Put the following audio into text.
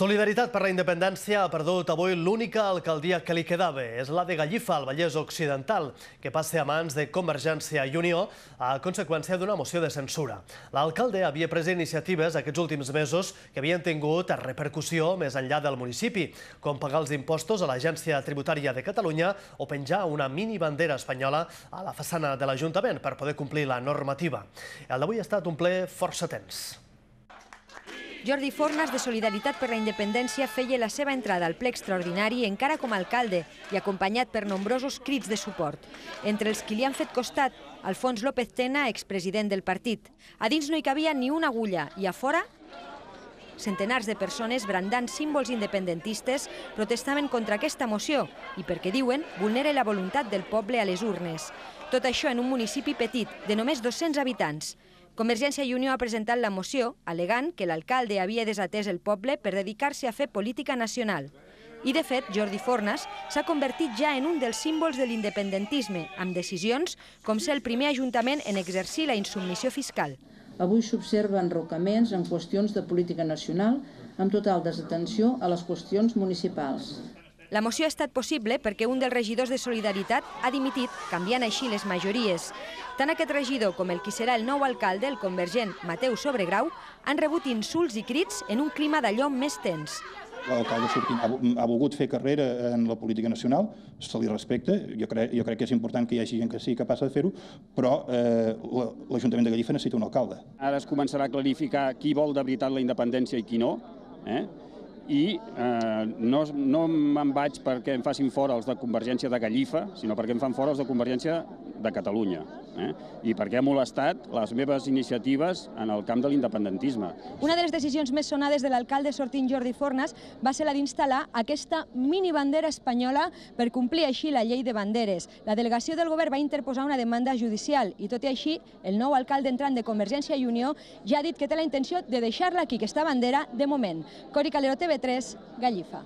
Solidaritat per la Independència ha perdut avui l'única alcaldia que li quedava. És la de Gallifa, al Vallès Occidental, que passa a mans de Convergència i Unió a conseqüència d'una moció de censura. L'alcalde havia pres iniciatives aquests últims mesos que havien tingut repercussió més enllà del municipi, com pagar els impostos a l'Agència Tributària de Catalunya o penjar una mini bandera espanyola a la façana de l'Ajuntament per poder complir la normativa. El d'avui ha estat un ple força tens. Jordi Fornas, de Solidaritat per la Independència, feia la seva entrada al ple extraordinari encara com a alcalde i acompanyat per nombrosos crits de suport. Entre els qui li han fet costat, Alfons López Tena, expresident del partit. A dins no hi cabia ni una agulla i a fora centenars de persones brandant símbols independentistes protestaven contra aquesta moció i perquè, diuen, vulnera la voluntat del poble a les urnes. Tot això en un municipi petit, de només 200 habitants. Convergència i Unió ha presentat la moció al·legant que l'alcalde havia desatès el poble per dedicar-se a fer política nacional. I, de fet, Jordi Fornas s'ha convertit ja en un dels símbols de l'independentisme, amb decisions com ser el primer ajuntament en exercir la insubmissió fiscal. Avui s'observen enrocaments en qüestions de política nacional amb total desatenció a les qüestions municipals. La moció ha estat possible perquè un dels regidors de Solidaritat ha dimitit, canviant així les majories. Tant aquest regidor com el qui serà el nou alcalde, el convergent Mateu Sobregrau, han rebut insults i crits en un clima d'allò més tens. L'alcalde ha volgut fer carrera en la política nacional, se li respecta, jo crec que és important que hi hagi gent que sigui capaç de fer-ho, però l'Ajuntament de Gallifa necessita un alcalde. Ara es començarà a clarificar qui vol de veritat la independència i qui no, i no me'n vaig perquè em facin fora els de Convergència de Gallifa, sinó perquè em fan fora els de Convergència de Catalunya, i perquè ha molestat les meves iniciatives en el camp de l'independentisme. Una de les decisions més sonades de l'alcalde sortint Jordi Fornas va ser la d'instal·lar aquesta mini bandera espanyola per complir així la llei de banderes. La delegació del govern va interposar una demanda judicial i, tot i així, el nou alcalde entrant de Convergència i Unió ja ha dit que té la intenció de deixar-la aquí, aquesta bandera, de moment. Cori Calero, TV3, Gallifa.